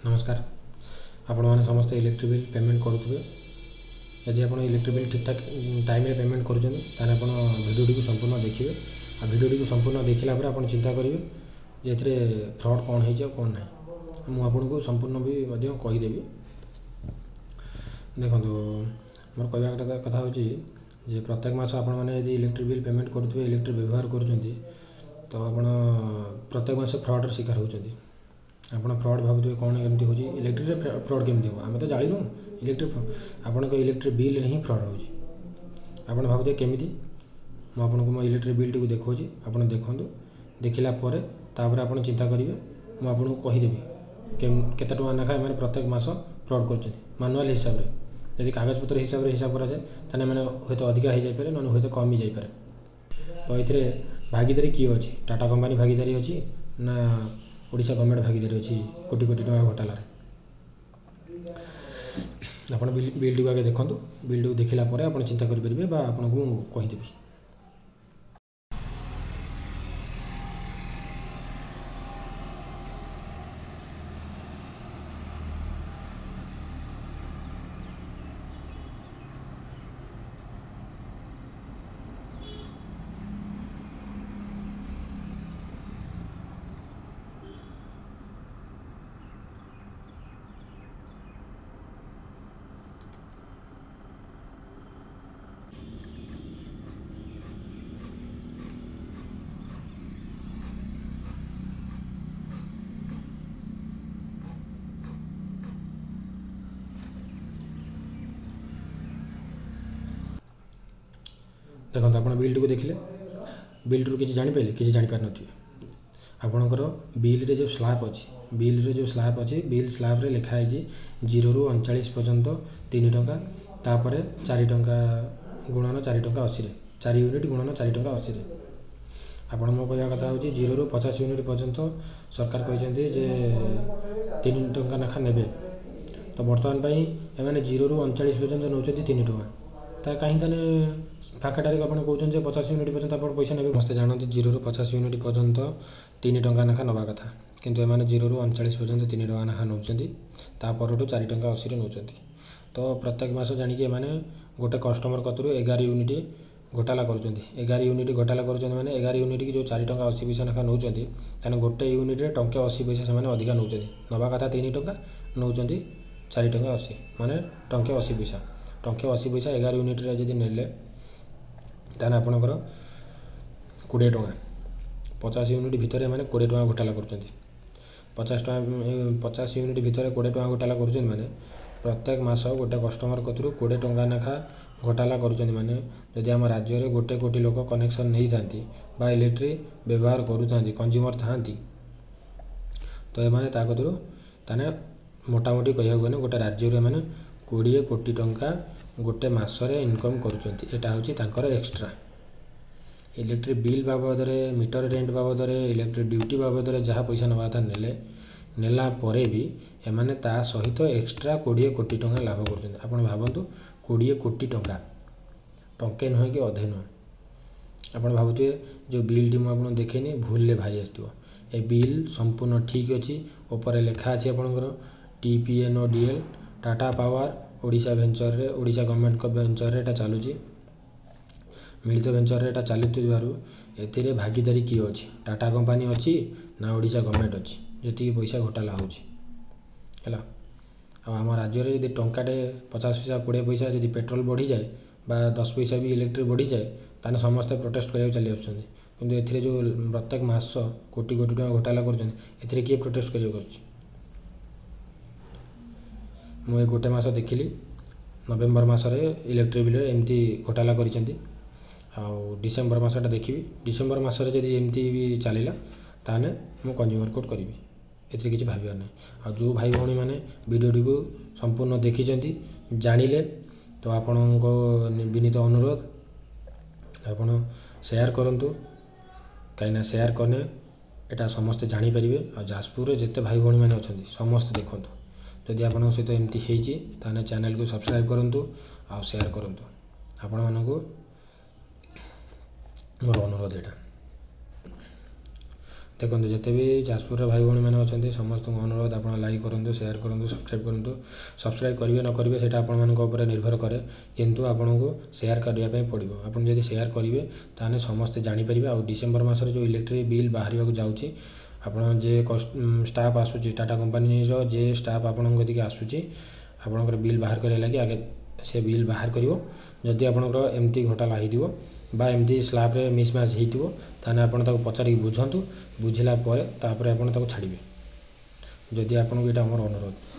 ନମସ୍କାର। ଆପଣମାନେ ସମସ୍ତେ ଇଲେକ୍ଟ୍ରିକ୍ ବିଲ୍ ପେମେଣ୍ଟ କରୁଥିବେ। ଯଦି ଆପଣ ଇଲେକ୍ଟ୍ରିକ୍ ବିଲ୍ ଠିକ୍ଠାକ୍ ଟାଇମ୍ରେ ପେମେଣ୍ଟ କରୁଛନ୍ତି, ତାହେଲେ ଆପଣ ଭିଡ଼ିଓଟିକୁ ସମ୍ପୂର୍ଣ୍ଣ ଦେଖିବେ। ଆଉ ଭିଡ଼ିଓଟିକୁ ସମ୍ପୂର୍ଣ୍ଣ ଦେଖିଲା ପରେ ଆପଣ ଚିନ୍ତା କରିବେ ଯେ ଏଥିରେ ଫ୍ରଡ଼୍ କ'ଣ ହେଇଛି ଆଉ କ'ଣ ନାହିଁ। ମୁଁ ଆପଣଙ୍କୁ ସମ୍ପୂର୍ଣ୍ଣ ବି ମଧ୍ୟ କହିଦେବି। ଦେଖନ୍ତୁ, ମୋର କହିବା କଥା ହେଉଛି ଯେ ପ୍ରତ୍ୟେକ ମାସ ଆପଣମାନେ ଯଦି ଇଲେକ୍ଟ୍ରିକ୍ ବିଲ୍ ପେମେଣ୍ଟ କରୁଥିବେ, ଇଲେକ୍ଟ୍ରିକ୍ ବ୍ୟବହାର କରୁଛନ୍ତି, ତ ଆପଣ ପ୍ରତ୍ୟେକ ମାସ ଫ୍ରଡ଼୍ର ଶିକାର ହେଉଛନ୍ତି। ଆପଣ ଫ୍ରଡ଼୍ ଭାବୁଥିବେ, କ'ଣ ଏମିତି ହେଉଛି, ଇଲେକ୍ଟ୍ରିକ୍ରେ ଫ୍ରଡ଼୍ କେମିତି ହେବ, ଆମେ ତ ଜାଣିନୁ ଇଲେକ୍ଟ୍ରିକ୍। ଆପଣଙ୍କ ଇଲେକ୍ଟ୍ରିକ୍ ବିଲ୍ରେ ହିଁ ଫ୍ରଡ଼୍ ହେଉଛି। ଆପଣ ଭାବୁଥିବେ କେମିତି। ମୁଁ ଆପଣଙ୍କୁ ମୋ ଇଲେକ୍ଟ୍ରିକ୍ ବିଲ୍ଟିକୁ ଦେଖାଉଛି, ଆପଣ ଦେଖନ୍ତୁ। ଦେଖିଲା ପରେ ତାପରେ ଆପଣ ଚିନ୍ତା କରିବେ। ମୁଁ ଆପଣଙ୍କୁ କହିଦେବି କେତେ ଟଙ୍କା ଲେଖା ଏମାନେ ପ୍ରତ୍ୟେକ ମାସ ଫ୍ରଡ଼୍ କରୁଛନ୍ତି ମାନୁଆଲ୍ ହିସାବରେ। ଯଦି କାଗଜପତ୍ର ହିସାବରେ ହିସାବ କରାଯାଏ, ତାହେଲେ ଏମାନେ ହୁଏତ ଅଧିକା ହେଇଯାଇପାରେ, ନହେଲେ ହୁଏତ କମି ଯାଇପାରେ। ତ ଏଥିରେ ଭାଗିଦାରୀ କିଏ ଅଛି? ଟାଟା କମ୍ପାନୀ ଭାଗିଦାରୀ ଅଛି ନା ଓଡ଼ିଶା ଗଭର୍ଣ୍ଣମେଣ୍ଟ ଭାଗିଦାରୀ ଅଛି କୋଟି କୋଟି ଟଙ୍କା ଘୋଟାଲାରେ? ଆପଣ ବିଲ୍ଟିକୁ ଆଗେ ଦେଖନ୍ତୁ। ବିଲ୍ଟିକୁ ଦେଖିଲା ପରେ ଆପଣ ଚିନ୍ତା କରିପାରିବେ ବା ଆପଣଙ୍କୁ ମୁଁ କହିଦେବି। ଦେଖନ୍ତୁ, ଆପଣ ବିଲ୍ଟିକୁ ଦେଖିଲେ, ବିଲ୍ଟିରୁ କିଛି ଜାଣିପାରିଲେ? କିଛି ଜାଣିପାରିନଥିବେ। ଆପଣଙ୍କର ବିଲ୍ରେ ଯେଉଁ ସ୍ଲାବ୍ ଅଛି, ବିଲ୍ରେ ଯେଉଁ ସ୍ଲାବ୍ ଅଛି, ବିଲ୍ ସ୍ଲାବ୍ରେ ଲେଖା ହେଇଛି 0ରୁ 39 ପର୍ଯ୍ୟନ୍ତ 3 ଟଙ୍କା, ତାପରେ 4 ଟଙ୍କା ଗୁଣନ 4 ଟଙ୍କା 80ରେ, 4 ୟୁନିଟ୍ ଗୁଣନ 4 ଟଙ୍କା 80ରେ। ଆପଣ ମୋ କହିବା କଥା ହେଉଛି, 0ରୁ 50 ୟୁନିଟ୍ ପର୍ଯ୍ୟନ୍ତ ସରକାର କହିଛନ୍ତି ଯେ 3 ଟଙ୍କା ଲେଖା ନେବେ। ତ ବର୍ତ୍ତମାନ ପାଇଁ ଏମାନେ 0ରୁ 39 ପର୍ଯ୍ୟନ୍ତ ନେଉଛନ୍ତି 3 ଟଙ୍କା। ତା କାହିଁ ତାହେଲେ ଫାଙ୍କାଟାରେ ଆପଣ କହୁଛନ୍ତି ଯେ 50 ୟୁନିଟ୍ ପର୍ଯ୍ୟନ୍ତ ଆପଣ ପଇସା ନେବେ? ସମସ୍ତେ ଜାଣନ୍ତି 0ରୁ 50 ୟୁନିଟ୍ ପର୍ଯ୍ୟନ୍ତ 3 ଟଙ୍କା ଲେଖା ନେବା କଥା, କିନ୍ତୁ ଏମାନେ 0ରୁ 39 ପର୍ଯ୍ୟନ୍ତ 3 ଟଙ୍କା ଲେଖା ନେଉଛନ୍ତି, ତା ପରଠୁ 4 ଟଙ୍କା 80ରେ ନେଉଛନ୍ତି। ତ ପ୍ରତ୍ୟେକ ମାସ ଜାଣିକି ଏମାନେ ଗୋଟେ କଷ୍ଟମର କତିରୁ 11 ୟୁନିଟ୍ ଘୋଟାଲା କରୁଛନ୍ତି। 11 ୟୁନିଟ୍ ଘୋଟାଲା କରୁଛନ୍ତି ମାନେ 11 ୟୁନିଟ୍ କି ଯେଉଁ 4 ଟଙ୍କା 80 ପଇସା ଲେଖା ନେଉଛନ୍ତି, ତାହେଲେ ଗୋଟେ ୟୁନିଟ୍ରେ ଟଙ୍କେ 80 ପଇସା ସେମାନେ ଅଧିକା ନେଉଛନ୍ତି। ନେବା କଥା 3 ଟଙ୍କା, ନେଉଛନ୍ତି 4 ଟଙ୍କା 80, ମାନେ ଟଙ୍କେ 80 ପଇସା। ଟଙ୍କେ 80 ପଇସା 11 ୟୁନିଟ୍ରେ ଯଦି ନେଲେ, ତାହେଲେ ଆପଣଙ୍କର 20 ଟଙ୍କା। 50 ୟୁନିଟ୍ ଭିତରେ ଏମାନେ 20 ଟଙ୍କା ଘୋଟାଲା କରୁଛନ୍ତି। 50 ଟଙ୍କା, 50 ୟୁନିଟ୍ ଭିତରେ 20 ଟଙ୍କା ଘୋଟାଲା କରୁଛନ୍ତି ମାନେ ପ୍ରତ୍ୟେକ ମାସ ଗୋଟେ କଷ୍ଟମର କତିରୁ 20 ଟଙ୍କା ଲେଖା ଘୋଟାଲା କରୁଛନ୍ତି। ମାନେ ଯଦି ଆମ ରାଜ୍ୟରେ 1 କୋଟି ଲୋକ କନେକ୍ସନ୍ ନେଇଥାନ୍ତି ବା ଇଲେକ୍ଟ୍ରିକ୍ ବ୍ୟବହାର କରୁଥାନ୍ତି, କଞ୍ଜ୍ୟୁମର୍ ଥାଆନ୍ତି, ତ ଏମାନେ ତା କତିରୁ ତାହେଲେ ମୋଟାମୋଟି କହିବାକୁ ଗଲେ ଗୋଟେ ରାଜ୍ୟରୁ ଏମାନେ 20 କୋଟି ଟଙ୍କା ଗୋଟେ ମାସରେ ଇନକମ୍ କରୁଛନ୍ତି। ଏଇଟା ହେଉଛି ତାଙ୍କର ଏକ୍ସଟ୍ରା। ଇଲେକ୍ଟ୍ରିକ୍ ବିଲ୍ ବାବଦରେ, ମିଟର ରେଣ୍ଟ ବାବଦରେ, ଇଲେକ୍ଟ୍ରିକ୍ ଡ୍ୟୁଟି ବାବଦରେ ଯାହା ପଇସା ନେବା କଥା ନେଲେ, ନେଲା ପରେ ବି ଏମାନେ ତା ସହିତ ଏକ୍ସଟ୍ରା 20 କୋଟି ଟଙ୍କା ଲାଭ କରୁଛନ୍ତି। ଆପଣ ଭାବନ୍ତୁ, 20 କୋଟି ଟଙ୍କା, ଟଙ୍କେ ନୁହେଁ କି ଅଧେ ନୁହେଁ। ଆପଣ ଭାବୁଥିବେ ଯେଉଁ ବିଲ୍ଟି ମୁଁ ଆପଣଙ୍କୁ ଦେଖେଇନି ଭୁଲରେ ବାହାରି ଆସିଥିବ। ଏ ବିଲ୍ ସମ୍ପୂର୍ଣ୍ଣ ଠିକ୍ ଅଛି। ଉପରେ ଲେଖା ଅଛି ଆପଣଙ୍କର TPNODL Tata power Odisha ଭେଞ୍ଚରରେ, Odisha ଗଭର୍ଣ୍ଣମେଣ୍ଟଙ୍କ ଭେଞ୍ଚରରେ ଏଇଟା ଚାଲୁଛି। ମିଳିତ ଭେଞ୍ଚରରେ ଏଇଟା ଚାଲୁଥିବାରୁ ଏଥିରେ ଭାଗିଦାରୀ କିଏ ଅଛି? ଟାଟା କମ୍ପାନୀ ଅଛି ନା ଓଡ଼ିଶା ଗଭର୍ଣ୍ଣମେଣ୍ଟ ଅଛି? ଯେତିକି ପଇସା ଘୋଟାଲା ହେଉଛି ହେଲା। ଆଉ ଆମ ରାଜ୍ୟରେ ଯଦି ଟଙ୍କାଟେ 50 ପଇସା, 20 ପଇସା ଯଦି ପେଟ୍ରୋଲ ବଢ଼ିଯାଏ ବା 10 ପଇସା ବି ଇଲେକ୍ଟ୍ରିକ୍ ବଢ଼ିଯାଏ, ତାହେଲେ ସମସ୍ତେ ପ୍ରୋଟେଷ୍ଟ କରିବାକୁ ଚାଲି ଆସୁଛନ୍ତି। କିନ୍ତୁ ଏଥିରେ ଯେଉଁ ପ୍ରତ୍ୟେକ ମାସ କୋଟି କୋଟି ଟଙ୍କା ଘୋଟାଲା କରୁଛନ୍ତି, ଏଥିରେ କିଏ ପ୍ରୋଟେଷ୍ଟ କରିବାକୁ ଆସୁଛି? ମୁଁ ଏ ଗୋଟେ ମାସ ଦେଖିଲି, ନଭେମ୍ବର ମାସରେ ଇଲେକ୍ଟ୍ରିକ୍ ବିଲ୍ରେ ଏମିତି ଘୋଟାଲା କରିଛନ୍ତି। ଆଉ ଡିସେମ୍ବର ମାସଟା ଦେଖିବି। ଡିସେମ୍ବର ମାସରେ ଯଦି ଏମିତି ବି ଚାଲିଲା, ତାହେଲେ ମୁଁ କଞ୍ଜ୍ୟୁମର କୋର୍ଟ କରିବି, ଏଥିରେ କିଛି ଭାବିବାର ନାହିଁ। ଆଉ ଯେଉଁ ଭାଇ ଭଉଣୀମାନେ ଭିଡ଼ିଓଟିକୁ ସମ୍ପୂର୍ଣ୍ଣ ଦେଖିଛନ୍ତି, ଜାଣିଲେ, ତ ଆପଣଙ୍କ ବିନୀତ ଅନୁରୋଧ, ଆପଣ ସେୟାର କରନ୍ତୁ। କାହିଁକିନା ସେୟାର କଲେ ଏଇଟା ସମସ୍ତେ ଜାଣିପାରିବେ। ଆଉ ଯାଜପୁରରେ ଯେତେ ଭାଇ ଭଉଣୀମାନେ ଅଛନ୍ତି, ସମସ୍ତେ ଦେଖନ୍ତୁ। ଯଦି ଆପଣଙ୍କ ସହିତ ଏମିତି ହେଇଛି, ତାହେଲେ ଚ୍ୟାନେଲକୁ ସବସ୍କ୍ରାଇବ୍ କରନ୍ତୁ ଆଉ ସେୟାର କରନ୍ତୁ। ଆପଣମାନଙ୍କୁ ମୋର ଅନୁରୋଧ ଏଇଟା। ଦେଖନ୍ତୁ, ଯେତେ ବି ଯାଜପୁରର ଭାଇ ଭଉଣୀମାନେ ଅଛନ୍ତି, ସମସ୍ତଙ୍କୁ ଅନୁରୋଧ, ଆପଣ ଲାଇକ୍ କରନ୍ତୁ, ସେୟାର କରନ୍ତୁ, ସବସ୍କ୍ରାଇବ୍ କରନ୍ତୁ। ସବସ୍କ୍ରାଇବ୍ କରିବେ ନ କରିବେ ସେଇଟା ଆପଣମାନଙ୍କ ଉପରେ ନିର୍ଭର କରେ, କିନ୍ତୁ ଆପଣଙ୍କୁ ସେୟାର କରିବା ପାଇଁ ପଡ଼ିବ। ଆପଣ ଯଦି ସେୟାର କରିବେ, ତାହେଲେ ସମସ୍ତେ ଜାଣିପାରିବେ। ଆଉ ଡିସେମ୍ବର ମାସରେ ଯେଉଁ ଇଲେକ୍ଟ୍ରିକ୍ ବିଲ୍ ବାହାରିବାକୁ ଯାଉଛି, ଆପଣ ଯେ ଷ୍ଟାଫ୍ ଆସୁଛି, ଟାଟା କମ୍ପାନୀର ଯେ ଷ୍ଟାଫ୍ ଆପଣଙ୍କ କତିକି ଆସୁଛି ଆପଣଙ୍କର ବିଲ୍ ବାହାର କରିବା ଲାଗି, ଆଗେ ସେ ବିଲ୍ ବାହାର କରିବ। ଯଦି ଆପଣଙ୍କର ଏମିତି ଘୋଟାଲା ହେଇଥିବ ବା ଏମିତି ସ୍ଲାବରେ ମିସମ୍ୟାଚ୍ ହେଇଥିବ, ତାହେଲେ ଆପଣ ତାକୁ ପଚାରିକି ବୁଝନ୍ତୁ। ବୁଝିଲା ପରେ ତାପରେ ଆପଣ ତାକୁ ଛାଡ଼ିବେ। ଯଦି ଆପଣଙ୍କୁ, ଏଇଟା ଆମର ଅନୁରୋଧ।